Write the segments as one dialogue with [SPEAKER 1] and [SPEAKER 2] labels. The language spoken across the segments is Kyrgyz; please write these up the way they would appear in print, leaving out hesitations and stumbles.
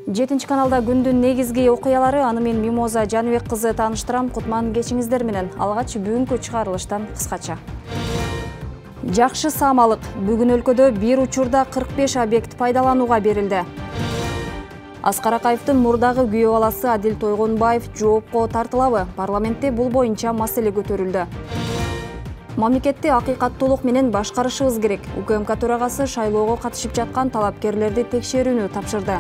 [SPEAKER 1] 7 каналда күндүн негизги окуялары, аны мен Мимоза Жаныбек кызы тааныштырам. Кутман кечиңиздер менен. Алгач бүгүнкү чыгарылыштан кыскача. Жакшы саамалык. Бүгүн өлкөдө бир учурда 45 объект пайдаланууга берилди. Аскар Акаевдин мурдагы күйөө баласы Адил Тойгонбаев жоопко тартылабы? Парламентте бул боюнча маселе көтөрүлдү. Мамлекетти акыйкаттуулук менен башкарышыбыз керек. УКМК төрагасы шайлоого катышып жаткан талапкерлерди текшерүүнү тапшырды.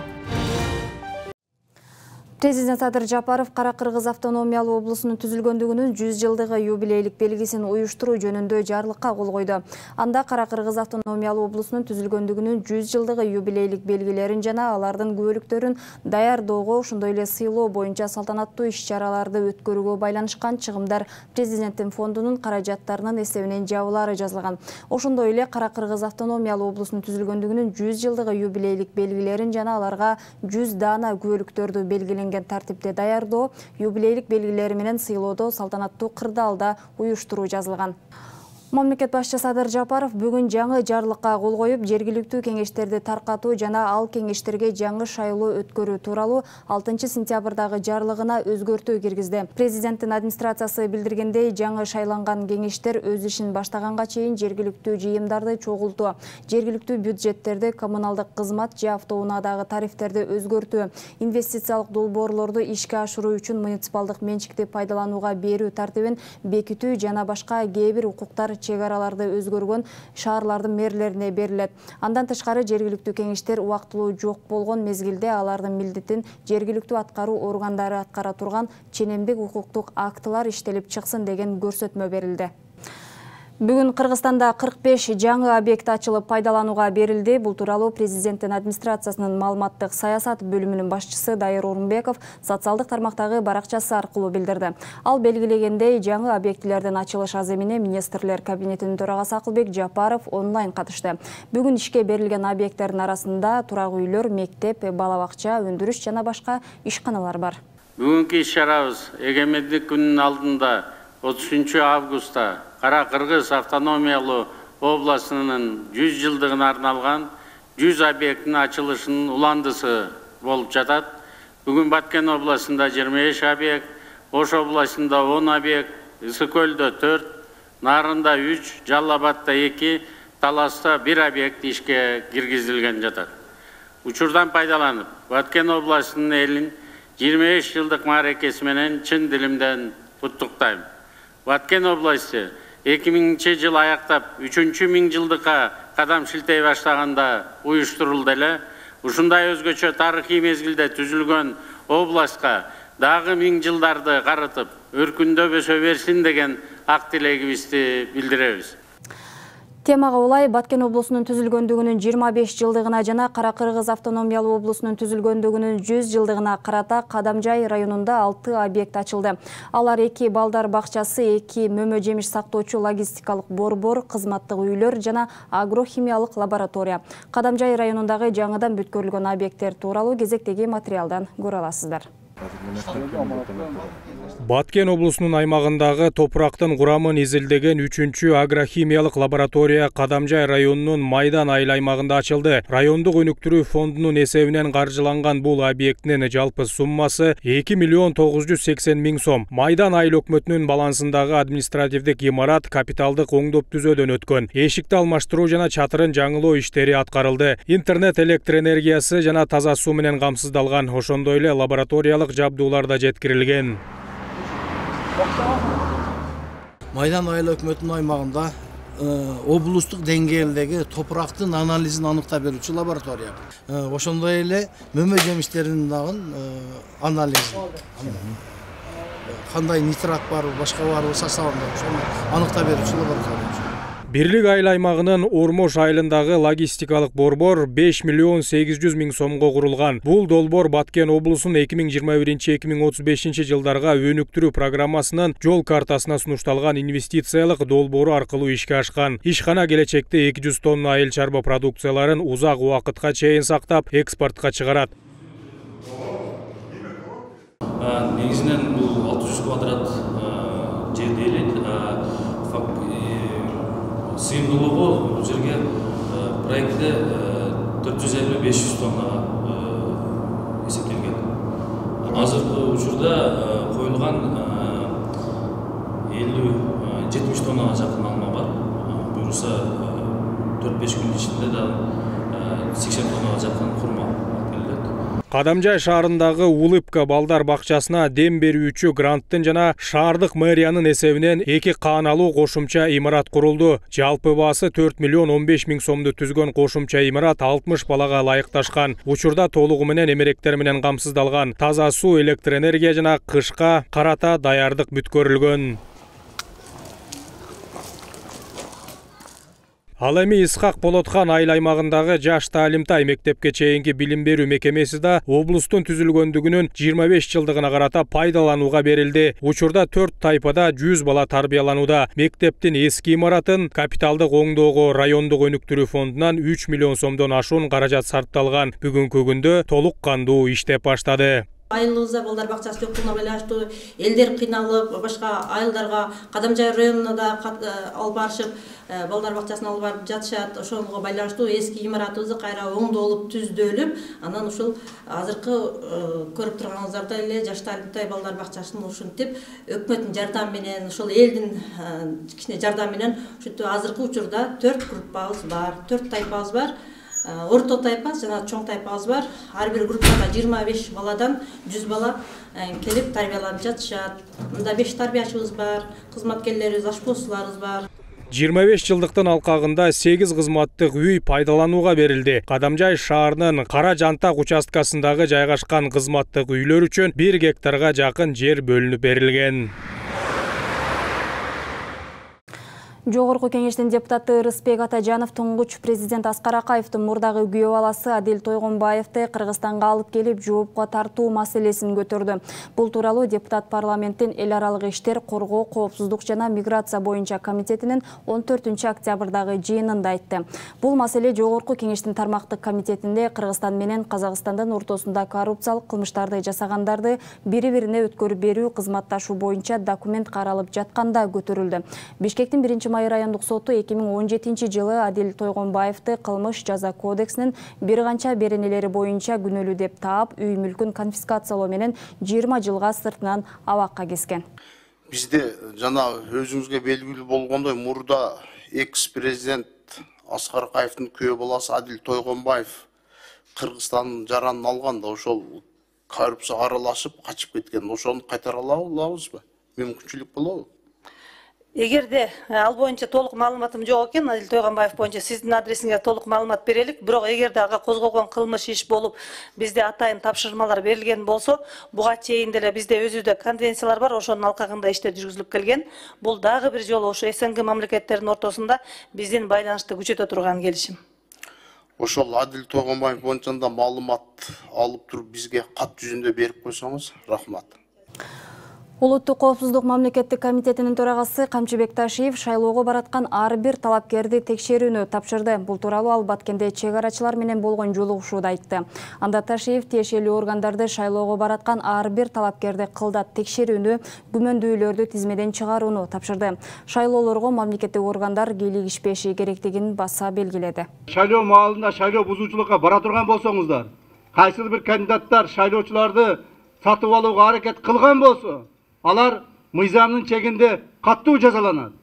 [SPEAKER 1] Президент Садыр Жапаров Кара-Кыргыз автономиялуу облусунун түзүлгөндүгүнүн 100 жылдыгы юбилейлик белгисин уюштуруу жөнүндө жарлыкка кол койду. Анда Кара-Кыргыз автономиялуу облусунун түзүлгөндүгүнүн 100 жылдыгы юбилейлик белгилерин жана алардын күбөлүктөрүн даярдоого, ошондой эле сыйлоо боюнча салтанаттуу иш-чараларды өткөрүүгө байланышкан чыгымдар президенттин фондунун каражаттарынын эсебинен жабылаары жазылган. Ошондой эле Кара-Кыргыз автономиялуу облусунун түзүлгөндүгүнүн 100 жылдыгы юбилейлик белгилерин жана аларга 100 даана күбөлүктөрдү белгиленген тартипте даярдоо, юбилейлик белгилери менен сыйлоодо салтанаттуу кырдаалда уюштуруу жазылган. Мамлекет башчысы Садыр Жапаров бүгүн жаңы жарлыкка кол коюп, жергиликтүү кеңештерди таркатуу жана ал кеңештерге жаңы шайлоо өткөрүү тууралуу 6 сентябрдагы жарлыгына өзгөртүү киргизди. Президенттин администрациясы билдиргендей, жаңы шайланган кеңештер өз ишин баштаганга чейин жергиликтүү жыйымдарды чогултуу, жергиликтүү бюджеттерди, коммуналдык кызмат же автоунаадагы тарифтерди өзгөртүү, инвестициялык долбоорлорду ишке ашыруу үчүн муниципалдык менчикти пайдаланууга берүү тартибин бекитүү жана башка кээ бир укуктар чек араларды өзгөргөн шаарлардын мэрлерине берилет. Андан тышкары жергиликтүү кеңештер убактылуу жок болгон мезгилде алардын милдетин жергиликтүү аткаруу органдары аткара турган ченемдик укуктук актылар иштелип чыксын деген көрсөтмө берилди. Бүгүн Кыргызстанда 45 жаңы объект ачылып пайдаланууга берилди. Бул тууралуу президенттин администрациясынын маалыматтык саясат бөлүмүнүн башчысы Дайыр Орунбеков социалдык тармактагы баракчасы аркылуу билдирди. Ал белгилегендей, жаңы объектилердин ачылыш аземине министрлер кабинетинин төрагасы Акылбек Жапаров онлайн катышты. Бүгүн ишке берилген объекттердин арасында турак уйлөр, мектеп, бала бакча, өндүрүш жана башка ишканалар бар.
[SPEAKER 2] Бүгүнкү иш-чарабыз эгемендик күнүнүн алдында 30 августта Кара-Кыргыз автономиялуу областынын 100 жылдыгына арналган 100 объекттин ачылышынын уландысы болуп жатат. Бүгүн Баткен областында 25 объект, Ош областында 10 объект, Ысык көлдө 4, Нарында 3, Жалал Абадта 2, Таласта 1 объект ишке киргизилген жатат. Учурдан пайдаланып, Баткен областынын элин 25 жылдык мааракеси менен чын дилимден куттуктайм. Баткен областы 2000 жыл аяктап 3-миң жылдыкка кадам шилтей баштаганда уюштурулду эле. Ушундай өзгөчө тарыхый мезгилде түзүлгөн областка дагы 1000 жылдарды карытып, өркүндөп өсө берсин деген ак тилегибизди билдиребиз.
[SPEAKER 1] Темага улай Баткен облусунун түзүлгөндүгүнүн 25 жылдыгына жана Кара-Кыргыз автономиялуу облусунун түзүлгөндүгүнүн 100 жылдыгына карата Кадамжай районунда 6 объект ачылды. Алар 2 балдар бакчасы, 2 мөмө жемиш сактоочу логистикалык борбор, кызматтык үйлөр жана агрохимиялык лаборатория. Кадамжай районундагы жаңыдан бүткөрүлгөн объекттер тууралуу кезектеги материалдан көрө аласыздар.
[SPEAKER 3] Баткен облусунун аймагындагы топурактын курамын изилдеген 3-чү агрохимиялык лаборатория Кадамжай районунун Майдан айыл аймагында ачылды. Райондук өнүктүрүү фондунун эсебинен каржыланган бул объекттин жалпы суммасы 2 миллион 980 миң сом. Майдан айыл өкмөтүнүн балансындагы административдик имарат капиталдык оңдоп түзөөдөн өткөн. Эшикти алмаштыруу жана чатырын жаңылоо иштери аткарылды. Интернет, электр энергиясы жана таза суу менен камсыздалган. Ошондой эле лабораториялык жабдуулар да жеткирилген.
[SPEAKER 4] Майдан айыл өкмөтүнүн аймагында облустук деңгээлдеги топурактын анализин аныктап берүүчү лаборатория. Ошондой эле мөмө жемиштеринин дагы анализин. Кандай нитрат бар, башка бар составында ошону аныктап берүүчү лаборатория.
[SPEAKER 3] Бирлик айыл аймагынын Ормош айылындагы логистикалык борбор 5 миллион 800 миң сомго курулган. Бул долбоор Баткен облусунун 2021-2035 жылдарга өнүктүрүү программасынын жол картасына сунушталган инвестициялык долбоору аркылуу ишке ашкан. Ишкана келечекте 200 тонна айыл чарба продукцияларын узак убакытка чейин сактап, экспортко чыгарат.
[SPEAKER 5] Негизинен бул 600 квадрат жерээлет. Сыйымдуулугу бул жерге проектте 450-500 тонна учурда коюлган 50-70 тоннага жакын алма бар. Буюрса 4-5 күн ичинде да 80 тоннага жакын курма келет.
[SPEAKER 3] Кадамжай шаарындагы Улыбка балдар бакчасына дем берүүчү гранттын жана шаардык мэриянын эсебинен 2 кааналуу кошумча имарат курулду. Жалпы баасы 4 миллион 15 миң сомду түзгөн кошумча имарат 60 балага ылайыкташкан. Учурда толугу менен эмеректер менен камсыздалган. Таза суу, электр энергия жана кышка карата даярдык бүткөрүлгөн. Ал эми Исхак Болотхан айыл аймагындагы жаш таалимтай мектепке чейинки билим берүү мекемеси да облустун түзүлгөндүгүнүн 25 жылдыгына карата пайдаланууга берилди. Учурда 4 тайпада 100 бала тарбияланууда. Мектептин эски имаратын капиталдык оңдоого райондук өнүктүрүү фондунан 3 миллион сомдон ашуун каражат сарпталган. Бүгүнкү күндө толук кандуу иштеп баштады.
[SPEAKER 6] Айылыбызда балдар бакчасы жокуна байланыштуу элдер кыйналып, башка айылдарга Кадамжай районуна да алып барышып, балдар бакчасына алып барып жатышат. Ошого байланыштуу эски имаратыбызды кайра оңдолуп, түздөлүп, анан ушул азыркы көрүп турганыңыздардай эле жаш таалимтай балдар бакчасын ушинтип өкмөттүн жардамы менен, ушул элдин кичине жардамы менен ушинтип азыркы учурда 4 группабыз бар, 4 тайпабыз бар. Орто тайпа жана чоң тайпабыз бар. Ар бир группада 25 баладан 100 бала келип тарбияланып жатышат. Мында 5 тарбиячыбыз бар, кызматкерлерибиз, ашпозчуларыбыз бар.
[SPEAKER 3] 25 жылдыктын алкагында 8 кызматтык үй пайдаланууга берилди. Кадамжай шаарынын Кара Жантак участкасындагы жайгашкан кызматтык үйлөр үчүн 1 гектарга жакын жер бөлүнүп берилген.
[SPEAKER 1] Жогорку кеңештин депутаты Рыспек Атажанов туңгуч президент Аскар Акаевдин мурдагы күйөө баласы Адил Тойгонбаевди Кыргызстанга алып келип жоопко тартуу маселесин көтөрдү. Бул тууралуу депутат парламенттин эл аралык иштер, коргоо, коопсуздук жана миграция боюнча комитетинин 14-октябрдагы жыйынында айтты. Бул маселе Жогорку кеңештин тармактык комитетинде Кыргызстан менен Казакстандын ортосунда коррупциялык кылмыштарды жасагандарды бири-бирине өткөрүп берүү кызматташуу боюнча документ каралып жатканда көтөрүлдү. Бишкектин 1 райондук соту 2017 жылы Адил Тойгонбаевди кылмыш жаза кодексинин бир канча беренелери боюнча күнөөлүү деп таап, үй мүлкүн конфискациялоо менен 20 жылга сыртынан абакка кескен.
[SPEAKER 7] Бизде жана өзүңүзгө белгилүү болгондой мурда экс-президент Аскар Акаевдин күйөө баласы Адил Тойгонбаев Кыргызстандын жаранын алган да ошол коррупцияга аралашып качып кеткен. Ошону кайтара алабызбы? Мүмкүнчүлүк болобу?
[SPEAKER 6] Эгерде ал боюнча толук маалыматым жок экен, Адил Тойгонбаев боюнча сиздин адресиңизге толук маалымат берелик. Бирок эгерде ага козголгон кылмыш иш болуп, бизде атайын тапшырмалар берилген болсо, буга чейин деле бизде өзүдө конвенциялар бар, ошонун алкагында иштер жүргүзүлүп келген. Бул дагы бир жолу ошо СНГ мамлекеттеринин ортосунда биздин байланышты күчөтө турган келишим.
[SPEAKER 7] Ошол Адил Тойгонбаев боюнча да маалымат алып туруп бизге кат жүзүндө берип койсоңуз, рахмат.
[SPEAKER 1] Улуттук коопсуздук мамлекеттик комитетинин төрагасы Камчыбек Ташиев шайлоого бараткан ар бир талапкерди текшерүүнү тапшырды. Бул тууралуу ал Баткенде чек арачылар менен болгон жолугушууда айтты. Анда Ташиев тиешелүү органдарды шайлоого бараткан ар бир талапкерди кылдат текшерүүнү, күмөндүүлөрдү тизмеден чыгарууну тапшырды. Шайлоолорго мамлекеттик органдар кийлигишпеши керектигин баса белгиледи.
[SPEAKER 8] Шайлоо маалында шайлоо бузуучулукка бара турган болсоңуздар, кайсыл бир кандидаттар шайлоочуларды сатып алууга аракет кылган болсо, алар мыйзамдын чегинде каттуу жазаланат.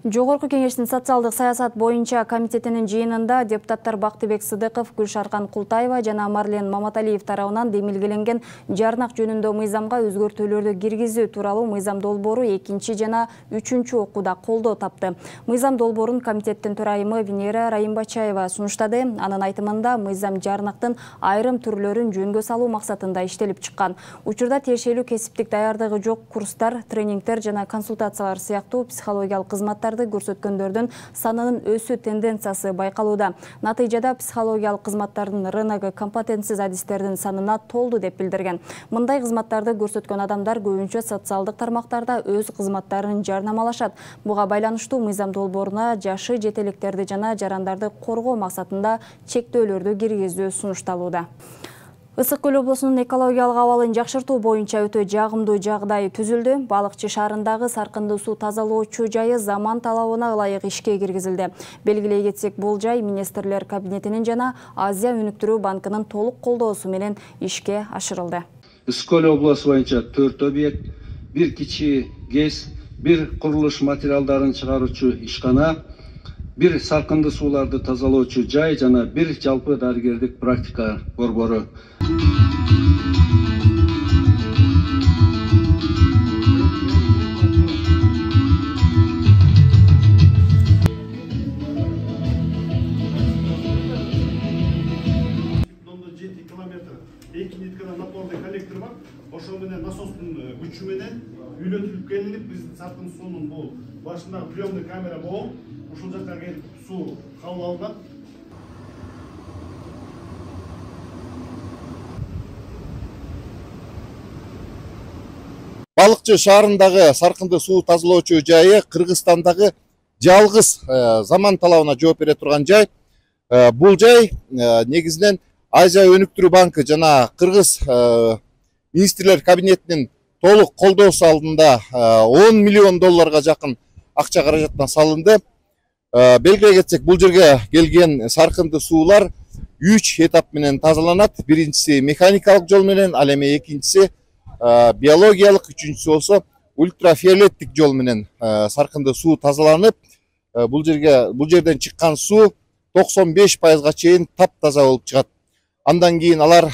[SPEAKER 1] Жогорку кеңештин социалдык саясат боюнча комитетинин жыйынында депутаттар Бактыбек Сыдыков, Гүлшаркан Култаева жана Марлен Маматалиев тарабынан демилгеленген жарнак жөнүндө мыйзамга өзгөртүүлөрдү киргизүү тууралуу мыйзам долбоору 2 жана 3 окууда колдоо тапты. Мыйзам долбоорун комитеттин төрайымы Венера Райымбачаева сунуштады. Анын айтымында мыйзам жарнактын айрым түрлөрүн жөнгө салуу максатында иштелип чыккан. Учурда тиешелүү кесиптик даярдыгы жок курстар, тренингтер жана консультациялар сыяктуу психологиялык кызматтар көрсөткөндөрдүн санынын өсүү тенденциясы байкалууда. Натыйжада психологиялык кызматтардын рыногу компетенсиз адистердин санына толду деп билдирген. Мындай кызматтарды көрсөткөн адамдар көбүнчө социалдык тармактарда өз кызматтарын жарнамалашат. Буга байланыштуу мыйзам долбооруна жашы жетелектерди жана жарандарды коргоо максатында чектөөлөрдү киргизүү сунушталууда. Ысык Көл облусунун экологиялык абалын жакшыртуу боюнча өтө жагымдуу жагдай түзүлдү. Балыкчы шаарындагы саркынды суу тазалоочу жайы заман талабына ылайык ишке киргизилди. Белгилей кетсек, бул жай министрлер кабинетинин жана Азия өнүктүрүү банкынын толук колдоосу менен ишке ашырылды.
[SPEAKER 9] Ысык-Көл облусу боюнча 4 объект, 1 кичи ГЭС, 1 курулуш материалдарын чыгаруучу ишкана, 1 саркынды сууларды тазалоочу жай жана 1 жалпы дарыгердик практика борбору.
[SPEAKER 10] Напорный коллектор бар. Ошол менен насостун күчү менен үйлөтүлүп келинип, биздин саркын суунун бул башындагы приемный камера болуп, ушул жакка келип суу кабыл алынат.
[SPEAKER 11] Балыкчы шаарындагы саркынды суу тазалоочу жайы Кыргызстандагы жалгыз заман талабына жооп бере турган жай. Бул жай негизинен Азия өнүктүрүү банкы жана Кыргыз министрлер кабинетинин толук колдоосу алдында 10 миллион долларга жакын акча каражаттан салынды. Белгилей кетсек, бул жерге келген саркынды суулар 3 этап менен тазаланат. Биринчиси механикалык жол менен, ал эми экинчиси биологиялык, үчүнчүсү болсо ультрафиолеттик жол менен саркынды суу тазаланып, бул жерден чыккан суу 95%га чейин таптаза болуп чыгат. Андан кийин алар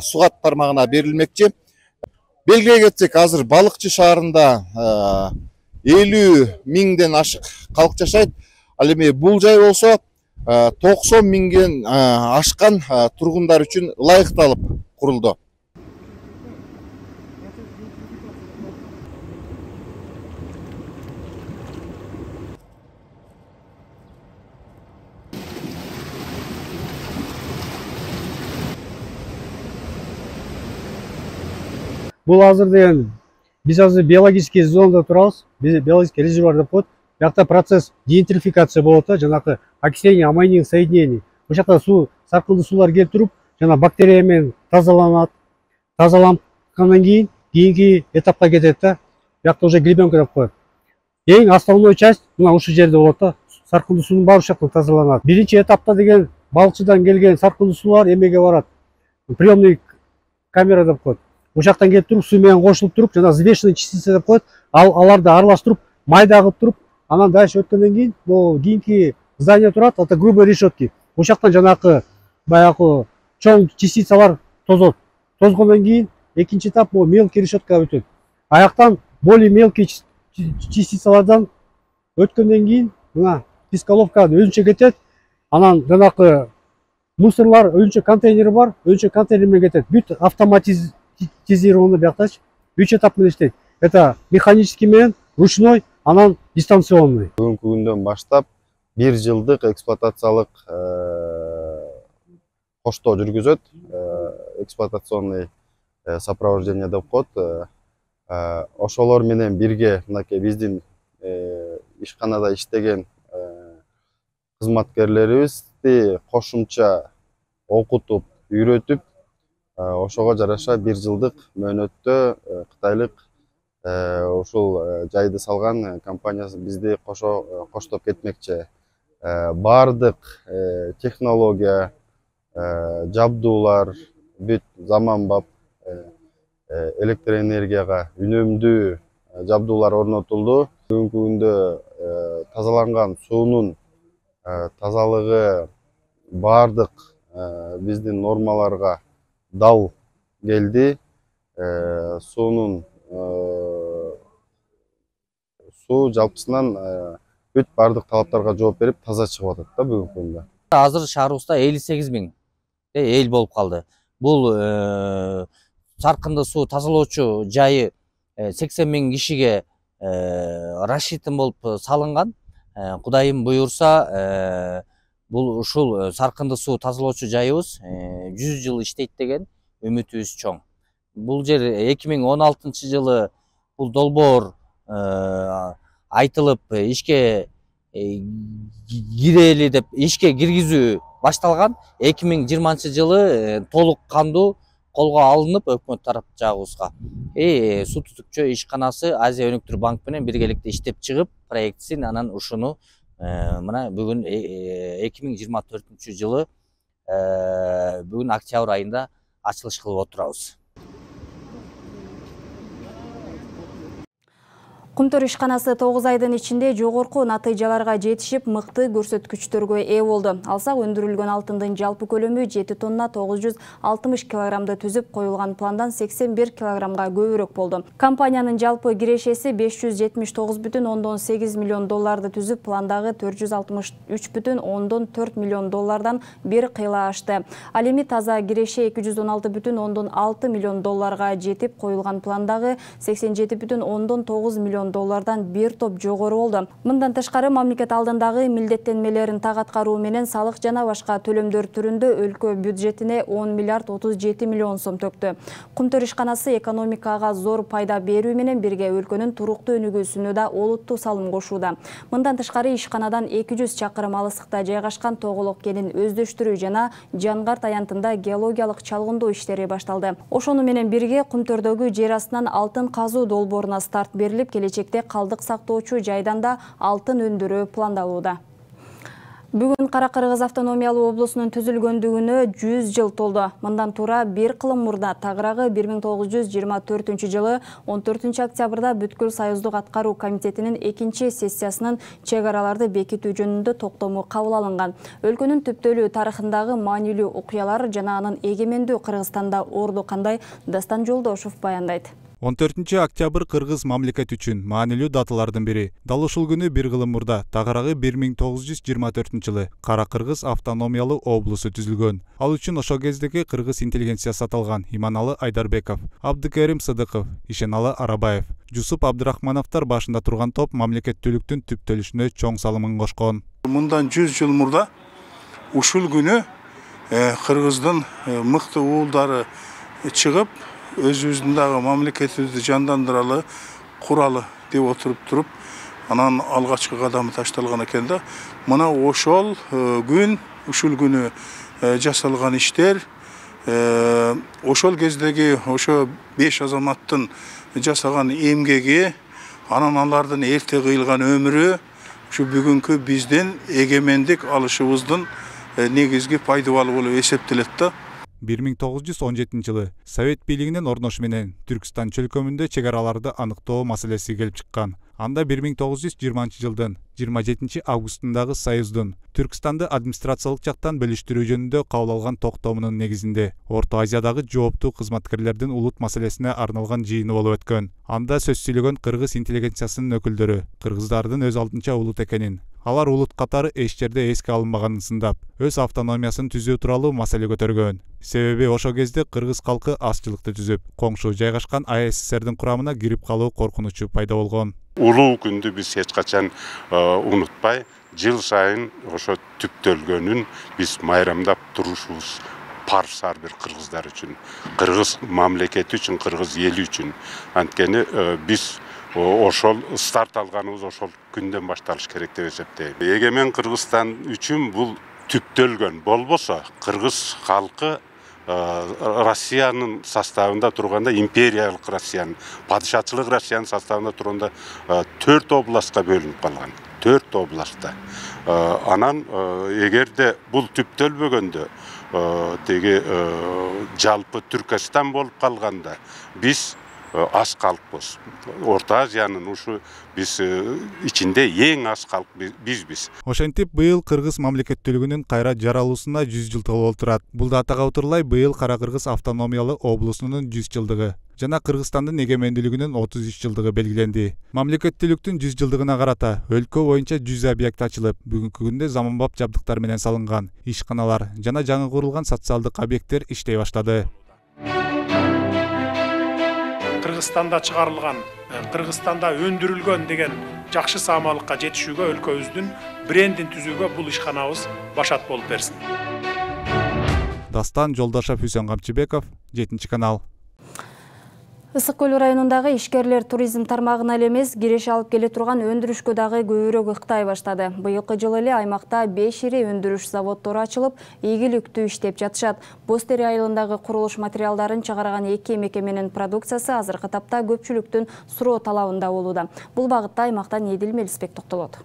[SPEAKER 11] сугат тармагына берилмекчи. Белгилей кетсек, азыр Балыкчы шаарында 50 миңден ашык калк жашайт. Ал эми бул жай болсо 90 миңден ашкан тургундар үчүн ылайыкталып курулду.
[SPEAKER 12] Бул азыр деген биз азыр биологический зонада турабыз. Биологический резервуар деп коет. Бuyakta процесс гентрификация болот да, жанакы окисление аммоний соединений. Бул жакта суу, саркынды суулар келип туруп, жана бактерия менен тазаланат. Тазалангандан кийинки этапка кетет да. Бuyakta уже гребенка деп коет. Эң основной часть мына ушул жерде болот да. Саркынды суунун баары ушул жактан тазаланат. Биринчи этапта деген балыкчыдан келген саркынды суулар эмеге барат. Приемный камера деп коет. Ушул жактан келип туруп, суу менен кошулуп туруп, жана взвешенный частица деп коет. Аларды аралаштырып, майда кылып туруп, анан дальше өткөндөн кийин бул кийинки здание турат, это грубые решетки. Ушул жактан жанакы баягы чоң частицалар тозот. Тозгондон кийин экинчи этап бул мелкий решеткага өтөт. Аяктан более мелкий частицалардан өткөндөн кийин мына пискаловка өзүнчө кетет. Анан жанакы мусорлар өзүнчө контейнери бар, өзүнчө контейнер менен кетет. Бүт автоматизировано бияктачы 3 этап менен иштейт. Это механический менен, ручной, анан дистанционный.
[SPEAKER 13] Бүгүнкү күндөн баштап 1 жылдык эксплуатациялык коштоо жүргүзөт. Эксплуатационный сопровождение деп коет. Ошолор менен бирге мынакей биздин ишканада иштеген кызматкерлерибизди кошумча окутуп, үйрөтүп, ошого жараша 1 жылдык мөөнөттө кытайлык ушул жайды салган компаниясы бизди коштоп кетмекчи. Бардык технология, жабдуулар, бүт заманбап электроэнергияга үнөмдүү жабдуулар орнотулду. Бүгүнкү күндө тазаланган суунун тазалыгы бардык биздин нормаларга дал келди. Суунун суу жалпысынан бүт бардык талаптарга жооп берип таза чыгып атат да бүгүнкү күндө.
[SPEAKER 14] Азыр шаарыбызда 58 миң эл болуп калды. Бул саркынды суу тазалоочу жайы 80 миң кишиге рассчитан болуп салынган. Кудайым буйрса, бул ушул саркынды суу тазалоочу жайыбыз 100 жыл иштейт деген үмүтүбүз чоң. Бул жер 2016 жылы бул долбоор айтылып ишке кирели деп ишке киргизүү башталган. 2020 жылы толук кандуу колго алынып өкмөт тарап жагыбызга суу түтүкчү ишканасы Азия өнүктүрүү банк менен биргеликте иштеп чыгып проектисин, анан ушуну мына бүгүн 2024 жылы бүгүн октябрь айында ачылыш кылып отурабыз.
[SPEAKER 1] Кумтөр ишканасы 9 айдын ичинде жогорку натыйжаларга жетишип, мыкты көрсөткүчтөргө ээ болду. Алсак, өндүрүлгөн алтындын жалпы көлөмү 7 тонна 960 килограммды түзүп, коюлган пландан 81 килограммга көбүрөөк болду. Компаниянын жалпы кирешеси 579,8 миллион долларды түзүп, пландагы 463,4 миллион доллардан бир кыйла ашты. Ал эми таза киреше 216,6 миллион долларга жетип, коюлган пландагы 87,9 миллион доллардан бир топ жогору болду. Мындан тышкары, мамлекет алдындагы милдеттенмелерин так аткаруу менен салык жана башка төлөмдөр түрүндө өлкө бюджетине 10 миллиард 37 миллион сом төктү. Кумтөр ишканасы экономикага зор пайда берүү менен бирге өлкөнүн туруктуу өнүгүүсүнө да олуттуу салым кошууда. Мындан тышкары, ишканадан 200 чакырым алыстыкта жайгашкан Тоголок кенин өздөштүрүү жана Жангарт аянтында геологиялык чалгындоо иштери башталды. Ошону менен бирге Кумтөрдөгү жер астынан алтын казуу долбооруна старт берилип, келечекте калдык сактоочу жайдан да алтын өндүрүү пландалууда. Бүгүн Кара-Кыргыз автономиялуу облусунун түзүлгөндүгүнө 100 жыл толду. Мындан туура бир кылым мурда, тагыраагы 1924 14 октябрда Бүткүл Союздук аткаруу комитетинин 2-сессиясынын чек араларды бекитүү жөнүндө токтому кабыл алынган. Өлкөнүн түптөлүү тарыхындагы маанилүү окуялар жана анын эгемендүү Кыргызстанда орду кандай, Дастан Жолдошов баяндайт.
[SPEAKER 15] 14 октябрь кыргыз мамлекет үчүн маанилүү даталардын бири. Дал ушул күнү бир кылым мурда, тагыраагы 1924 жылы Кара-Кыргыз автономиялуу облусу түзүлгөн. Ал үчүн ошол кездеги кыргыз интеллигенциясы аталган Иманалы Айдарбеков, Абдыкерим Сыдыков, Ишеналы Арабаев, Жусуп Абдырахмановдор башында турган топ мамлекеттүүлүктүн түптөлүшүнө чоң салымын кошкон.
[SPEAKER 16] Мындан 100 жыл мурда ушул күнү кыргыздын мыкты уулдары чыгып, өзүбүздүн дагы мамлекетибизди жандандыралы, куралы деп туруп, анан алгачкы кадамы ташталган экен да. Мына ошол күн, ушул күнү жасалган иштер, ошол кездеги ошо 5 азаматтын жасаган эмгеги, анан алардын эрте кыйылган өмүрү, ушу бүгүнкү биздин эгемендик алышыбыздын негизги пайдабалы болуп эсептелет да.
[SPEAKER 15] 1917 жылы Совет бийлигинин орношуу менен Түркстан чөлкөмүндө чек араларды аныктоо маселеси келип чыккан. Анда 1920 жылдын 27 августундагы Союздун Түркстанды администрациялык жактан бөлүштүрүү жөнүндө кабыл алган токтомунун негизинде Орто Азиядагы жооптуу кызматкерлердин улут маселесине арналган жыйыны болуп өткөн. Анда сөз сүйлөгөн кыргыз интеллигенциясынын өкүлдөрү кыргыздардын өз алдынча улут экенин, алар улут катары эч жерде эске алынбаганын сындап, өз автономиясын түзүү тууралуу маселе көтөргөн. Себеби ошол кезде кыргыз калкы азчылыкты түзүп, коңшу жайгашкан АССРдин курамына кирип калуу коркунучу пайда болгон.
[SPEAKER 17] Улуу күндү биз эч качан унутпай, жыл сайын ошо түптөлгөнүн биз майрамдап турушубуз парз ар бир кыргыздар үчүн, кыргыз мамлекети үчүн, кыргыз эли үчүн. Анткени биз ошол старт алганыбыз ошол күндөн башталыш керек деп эсептейм. Эгемен Кыргызстан үчүн бул түптөлгөн болбосо, кыргыз халкы Россиянын составында турганда, империялык Россиянын, падышачылык Россиянын составында турганда 4 областка бөлүнүп калган. 4 областта. Анан эгерде бул түптөлбөгөндө, теги жалпы Түркстан болуп калганда, биз аз калкпыз. Орто Азиянын ушу биз ичинде эң аз калк бизбиз.
[SPEAKER 15] Ошентип, быйыл кыргыз мамлекеттүүлүгүнүн кайра жаралуусуна 100 жыл толуп отурат. Бул датага утурлай быйыл Кара-Кыргыз автономиялуу облусунун 100 жылдыгы жана Кыргызстандын эгемендүүлүгүнүн 33 жылдыгы белгиленди. Мамлекеттүүлүктүн 100 жылдыгына карата өлкө боюнча 100 объект ачылып, бүгүнкү күндө заманбап жабдыктар менен салынган ишканалар жана жаңы курулган социалдык объекттер иштей баштады.
[SPEAKER 18] Кыргызстанда чыгарылган, Кыргызстанда өндүрүлгөн деген жакшы саамалыкка жетишүүгө өлкөбүздүн брендин түзүүгө бул ишканабыз башат болуп берсин.
[SPEAKER 15] Дастан Жолдошов, Үсөн Камчыбеков, 7 канал.
[SPEAKER 1] Ысык көл районундагы ишкерлер туризм тармагына эле эмес, киреше алып келе турган өндүрүшкө дагы көбүрөөк ыктай баштады. Быйылкы жылы эле аймакта 5 ири өндүрүш заводдору ачылып, ийгиликтүү иштеп жатышат. Бостери айылындагы курулуш материалдарын чыгарган 2 мекеменин продукциясы азыркы тапта көпчүлүктүн суроо талабында болууда. Бул багытта аймактан Эдил Мелисбек токтолот.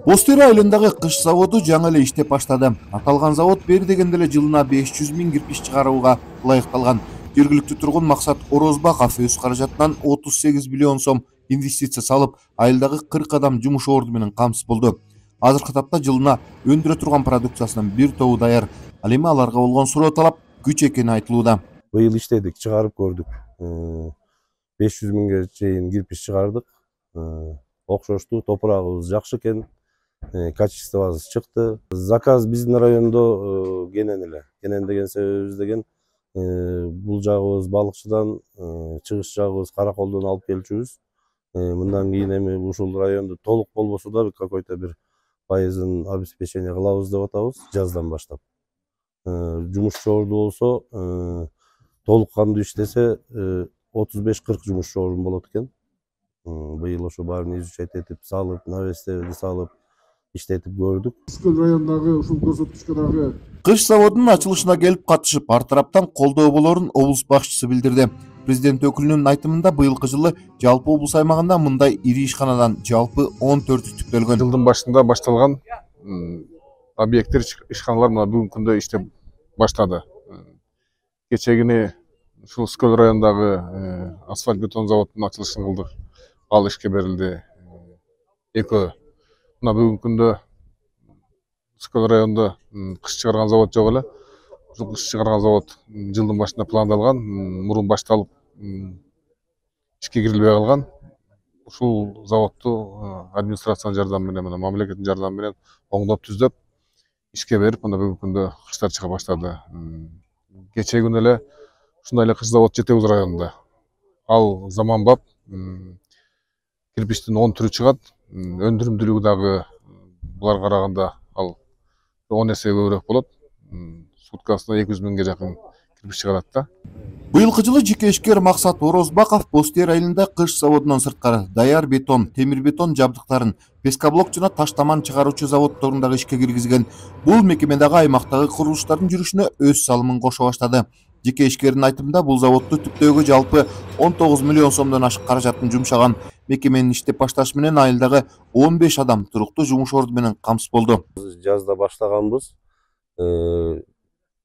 [SPEAKER 11] Бостери айылындагы кыш заводу жаңы эле иштеп баштады. Аталган завод бери дегенде эле жылына 500 000 кирпич чыгарууга ылайыкталган. жергиликтүү тургун Максат Орозбаков өз каражатынан 38 миллион сом инвестиция салып, айылдагы 40 адам жумуш орду менен камсыз болду. Азыркы тапта жылына өндүрө турган продукциясынын бир тобу даяр. Ал эми аларга болгон суроо талап күч экени айтылууда.
[SPEAKER 19] Быйыл иштедик, чыгарып көрдүк. 500 миңге чейин кирпич чыгардык. Окшоштуу, топурагыбыз жакшы экен. Качествобуз чыкты. Заказ биздин райондо кенен эле. Кенен деген себебибиз деген бул жагыбыз балыкчыдан, чыгыш жагыбыз Караколдон алып келчүбүз. Мындан кийин эми ушул райондо толук болбосо да какой-то бир пайызын обеспечение кылабыз деп атабыз жаздан баштап. Жумушчу орду болсо толук кандуу иштесе 35-40 жумушчу орун болот экен. Быйыл ошо баарын изучать этип, салып, навестерди салып, иштетип көрдүк.
[SPEAKER 20] Ускөл районундагы ушул көрсөткүчкө дагы
[SPEAKER 11] Кыш заводунун ачылышына келип катышып, ар тараптан колдоо болорун облус башчысы билдирди. Президент өкүлүнүн айтымында быйылкы жылы жалпы облус аймагында мындай ири ишканадан жалпы 14 түптөлгөн.
[SPEAKER 21] Жылдын башында башталган объекттер, ишканалар мына бүгүнкү күндө иштеп баштады. Кечегини ушул Ускөл районундагы асфальт бетон заводунун ачылышын кылдык. Ал ишке берилди. Экөө мына бүгүнкү күндө Ускөл районунда кыш чыгарган завод жок эле. Ушул кыш чыгарган завод жылдын башында пландалган, мурун башталып ишке кирилбей калган. Ушул заводду администрациянын жардамы менен, мамлекеттин жардамы менен оңдоп түздөп ишке берип, мына бүгүнкү күндө кыштар чыга баштады. Кечээ күнү эле ушундай эле кыш завод Жетебуз районунда. Ал заманбап кирпичтин 10 түрү чыгат. Өндүрүмдүүлүгү дагы буларга караганда ал 10 эсе көбүрөөк болот. Суткасына 200 миңге жакын кирпич чыгарат да.
[SPEAKER 11] Быйылкы жылы жеке ишкер Максат Орозбаков Бостер айылында кыш заводунан сырткары даяр бетон, темир бетон жабдыктарын, пескоблок жана таш таман чыгаруучу заводдорун ишке киргизген. Бул мекемедagi аймактагы курулуштардын жүрүшүнө өз салымын кошо баштады. Жеке ишкердин айтымында бул заводду түптөөгө жалпы 19 миллион сомдон ашык каражатын жумшаган. Мекеменин иштеп башташы менен айылдагы 15 адам туруктуу жумуш орду менен камсыз болду.
[SPEAKER 19] Жазда баштаганбыз.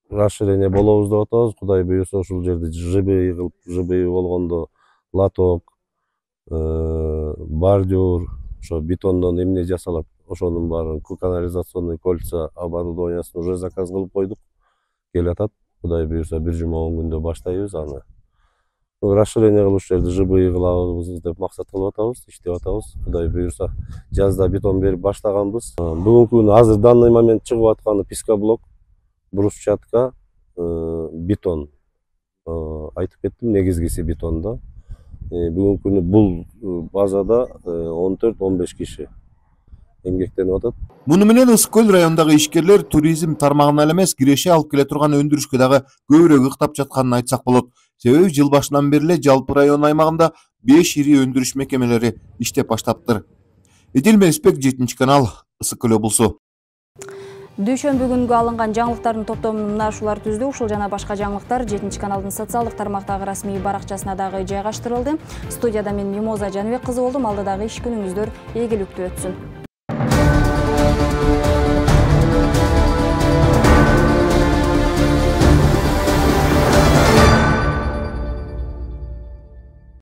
[SPEAKER 19] Расширение болобуз деп атабыз. Кудай буюрса ушул жерде ЖБИ кылып, ЖБИ болгондо лоток, бордюр, ошо бетондон эмне жасалат, ошонун баарын канализационный кольца оборудованиясын уже заказ кылып койдук. Келатат. Кудай буюрса бир жума 10 күндө баштайбыз аны. Расширение кылып ушул жерде ЖБИ кылабыз деп максат кылып атабыз, иштеп атабыз. Кудай буюрса жазда бетон берип баштаганбыз. Бүгүнкү күнү азыр данный момент чыгып атканы пескоблок, брусчатка, бетон. Айтып кеттим, негизгиси бетонда. Бүгүнкү күнү бул базада 14-15 киши эмгектенип атат.
[SPEAKER 11] Муну менен Ускөл районундагы ишкерлер туризм тармагына эле эмес, киреше алып келе турган өндүрүшкө дагы көбүрөөк ыктап жатканын айтсак болот. Себеби жыл башынан бери эле жалпы район аймагында 5 ири өндүрүш мекемелери иштеп баштаптыр. Эдил Месбек, 7-канал, Ысык-Көл облусу.
[SPEAKER 1] Дүйшөмбү күнгө алынган жаңылыктардын топтомун мына ушулар түздү. Ушул жана башка жаңылыктар 7-каналдын социалдык тармактагы расмий баракчасына дагы жайгаштырылды. Студияда мен Мимоза Жаныбек кызы болдум. Алда дагы иш күнүңүздөр ийгиликтүү өтсүн.